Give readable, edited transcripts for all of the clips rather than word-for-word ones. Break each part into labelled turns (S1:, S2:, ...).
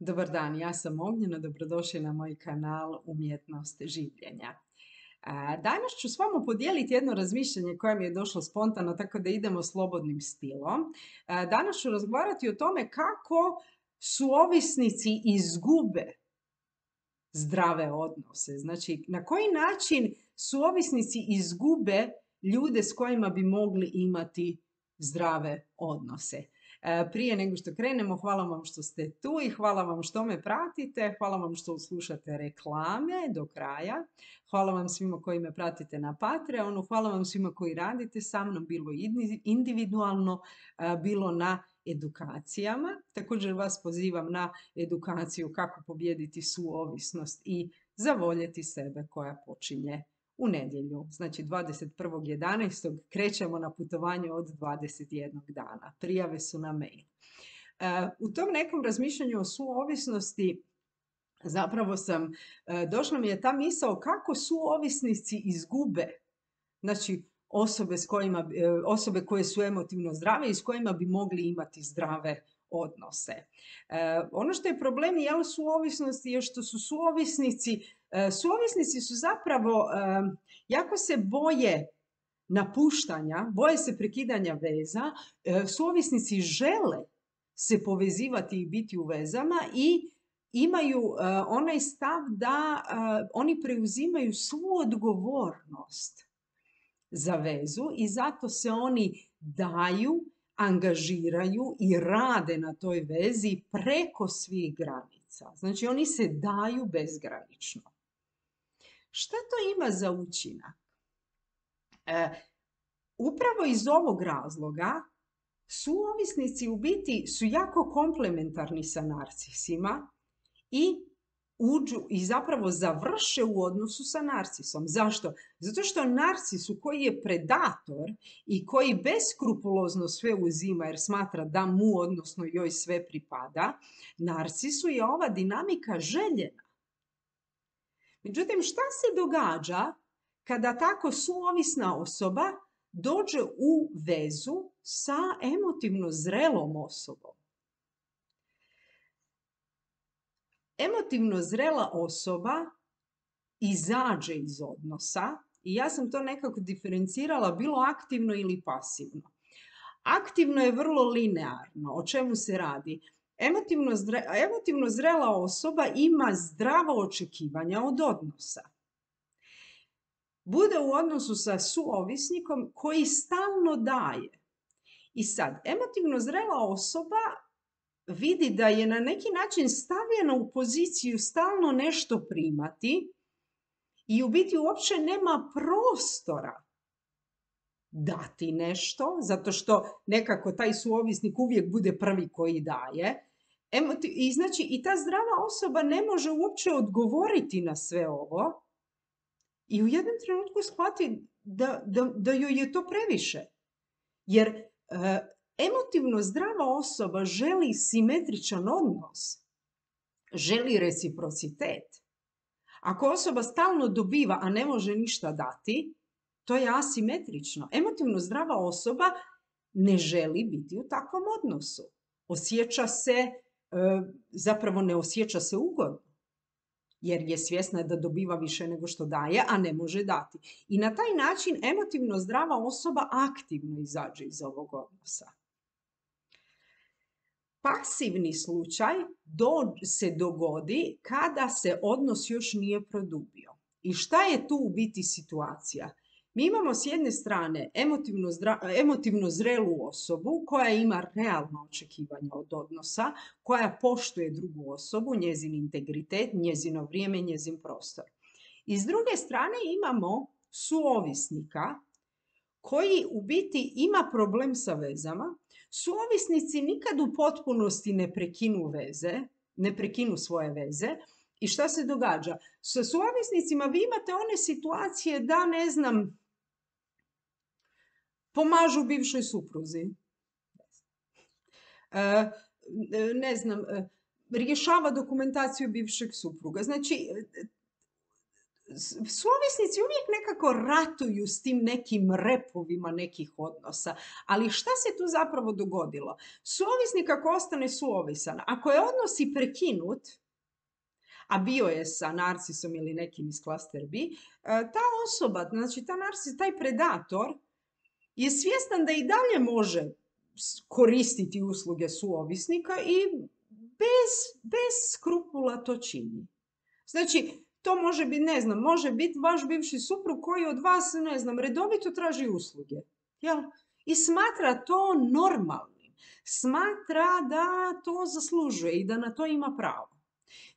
S1: Dobar dan, ja sam Ognjena, dobrodošli na moj kanal Umjetnost življenja. Danas ću s vama podijeliti jedno razmišljanje koje mi je došlo spontano, tako da idemo slobodnim stilom. Danas ću razgovarati o tome kako suovisnici izgube zdrave odnose. Znači, na koji način suovisnici izgube ljude s kojima bi mogli imati zdrave odnose. Prije nego što krenemo, hvala vam što ste tu i hvala vam što me pratite, hvala vam što slušate reklame do kraja, hvala vam svima koji me pratite na Patreonu, hvala vam svima koji radite sa mnom, bilo individualno, bilo na edukacijama. Također vas pozivam na edukaciju kako pobijediti suovisnost i zavoljeti sebe koja počinje u nedjelju. Znači 21.11. krećemo na putovanje od 21 dana. Prijave su na mail. U tom nekom razmišljanju o suovisnosti zapravo došla mi je ta misao kako suovisnici izgube, znači osobe koje su emotivno zdrave i s kojima bi mogli imati zdrave odnose. Ono što je problem suovisnosti je što su suovisnici su zapravo jako se boje napuštanja, boje se prekidanja veza, suovisnici žele se povezivati i biti u vezama i imaju onaj stav da oni preuzimaju svu odgovornost za vezu i zato se oni daju, angažiraju i rade na toj vezi preko svih granica. Znači oni se daju bezgranično. Šta to ima za učinak? Upravo iz ovog razloga suovisnici u biti su jako komplementarni sa narcisima i uđu i zapravo završe u odnosu sa narcisom. Zašto? Zato što narcisu koji je predator i koji beskrupulozno sve uzima jer smatra da mu, odnosno joj sve pripada, narcisu je ova dinamika željena. Međutim, šta se događa kada tako suovisna osoba dođe u vezu sa emotivno zrelom osobom? Emotivno zrela osoba izađe iz odnosa i ja sam to nekako diferencirala bilo aktivno ili pasivno. Aktivno je vrlo linearno. O čemu se radi? Emotivno zrela osoba ima zdravo očekivanja od odnosa. Bude u odnosu sa suovisnikom koji stalno daje. I sad, emotivno zrela osoba vidi da je na neki način stavljena u poziciju stalno nešto primati i u biti uopće nema prostora dati nešto, zato što nekako taj suovisnik uvijek bude prvi koji daje. I ta zdrava osoba ne može uopće odgovoriti na sve ovo i u jednom trenutku shvati da joj je to previše. Jer emotivno zdrava osoba želi simetričan odnos, želi reciprocitet. Ako osoba stalno dobiva, a ne može ništa dati, to je asimetrično. Emotivno zdrava osoba ne želi biti u takvom odnosu. Zapravo ne osjeća se ugodno, jer je svjesna da dobiva više nego što daje, a ne može dati. I na taj način emotivno zdrava osoba aktivno izađe iz ovog odnosa. Pasivni slučaj se dogodi kada se odnos još nije produbio. I šta je tu u biti situacija? Mi imamo s jedne strane emotivno zrelu osobu koja ima realno očekivanje od odnosa, koja poštuje drugu osobu, njezin integritet, njezino vrijeme, njezin prostor. I s druge strane imamo suovisnika koji u biti ima problem sa vezama. Suovisnici nikad u potpunosti ne prekinu svoje veze. I šta se događa? Sa suovisnicima vi imate one situacije da, pomažu bivšoj supruzi. Rješava dokumentaciju bivšeg supruga. Znači, Suovisnici uvijek nekako ratuju s tim nekim repovima nekih odnosa. Ali šta se tu zapravo dogodilo? Suovisnik ako ostane suovisan, ako je odnos i prekinut, a bio je sa narcisom ili nekim iz klaster B, ta osoba, znači ta narcis, taj predator je svjestan da i dalje može koristiti usluge suovisnika i bez skrupula to čini. Znači, to može biti, ne znam, može biti vaš bivši suprug koji od vas, ne znam, redovito traži usluge. Jel? I smatra to normalnim. Smatra da to zaslužuje i da na to ima pravo.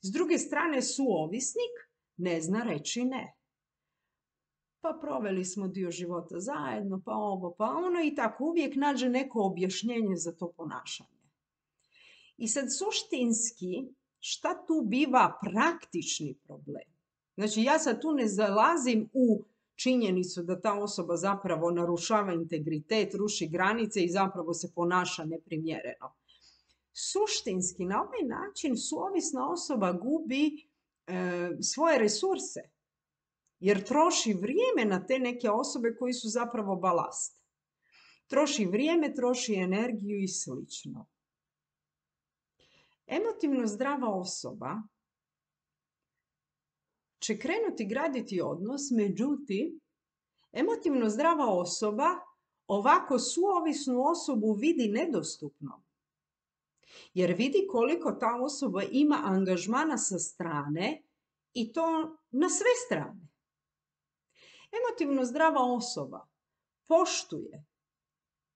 S1: S druge strane, suovisnik ne zna reći ne. Pa proveli smo dio života zajedno, pa ovo, pa ono i tako uvijek nađe neko objašnjenje za to ponašanje. I sad suštinski, šta tu biva praktični problem? Znači ja sad tu ne zalazim u činjenicu da ta osoba zapravo narušava integritet, ruši granice i zapravo se ponaša neprimjereno. Suštinski na ovaj način suovisna osoba gubi svoje resurse jer troši vrijeme na te neke osobe koji su zapravo balast. Troši vrijeme, troši energiju i slično. Emotivno zdrava osoba će krenuti graditi odnos, međutim, emotivno zdrava osoba ovako suovisnu osobu vidi nedostupno. Jer vidi koliko ta osoba ima angažmana sa strane i to na sve strane. Emotivno zdrava osoba poštuje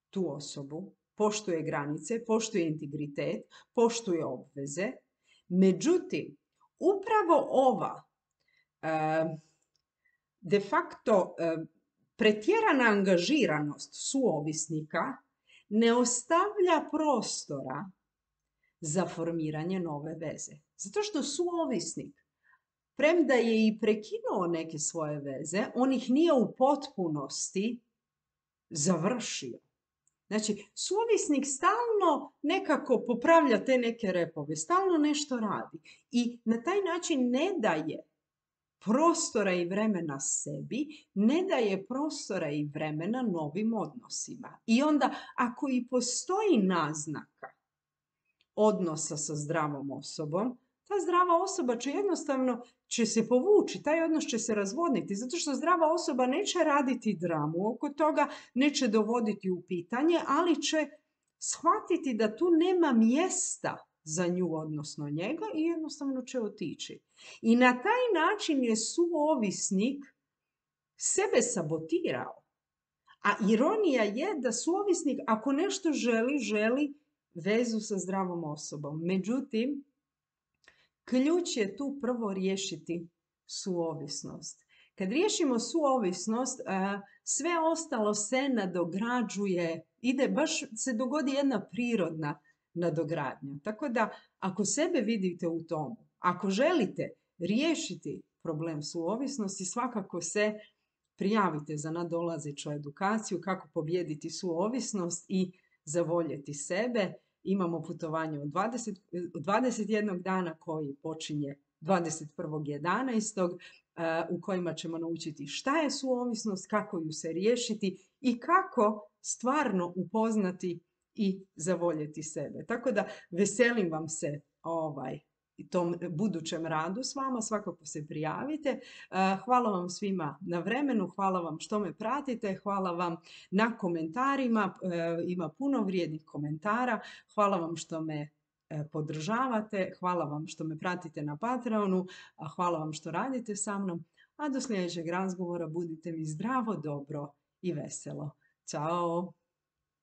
S1: tu osobu, poštuje granice, poštuje integritet, poštuje obveze. Međutim, upravo ova de facto pretjerana angažiranost suovisnika ne ostavlja prostora za formiranje nove veze. Zato što suovisnik, premda je i prekinuo neke svoje veze, on ih nije u potpunosti završio. Znači, suovisnik stalno nekako popravlja te neke repove, stalno nešto radi i na taj način ne daje prostora i vremena sebi, ne daje prostora i vremena novim odnosima. I onda, ako i postoji naznaka odnosa sa zdravom osobom, ta zdrava osoba će jednostavno se povući, taj odnos će se razvodniti, zato što zdrava osoba neće raditi dramu oko toga, neće dovoditi u pitanje, ali će shvatiti da tu nema mjesta za nju, odnosno njega, i jednostavno će otići. I na taj način je suovisnik sebe sabotirao. A ironija je da suovisnik, ako nešto želi vezu sa zdravom osobom. Međutim, ključ je tu prvo riješiti suovisnost. Kad riješimo suovisnost, sve ostalo se nadograđuje, baš se dogodi jedna prirodna nadogradnja. Tako da, ako sebe vidite u tomu, ako želite riješiti problem suovisnosti, svakako se prijavite za nadolazeću edukaciju kako pobijediti suovisnost i zavoljeti sebe. Imamo putovanje od 21 dana koji počinje 21.11. U kojima ćemo naučiti šta je suovisnost, kako ju se riješiti i kako stvarno upoznati i zavoljeti sebe. Tako da veselim vam se tom budućem radu s vama, svakako se prijavite. Hvala vam svima na vremenu, hvala vam što me pratite, hvala vam na komentarima, ima puno vrijednih komentara, hvala vam što me podržavate, hvala vam što me pratite na Patreonu, hvala vam što radite sa mnom, a do sljedećeg razgovora budite mi zdravo, dobro i veselo. Ćao!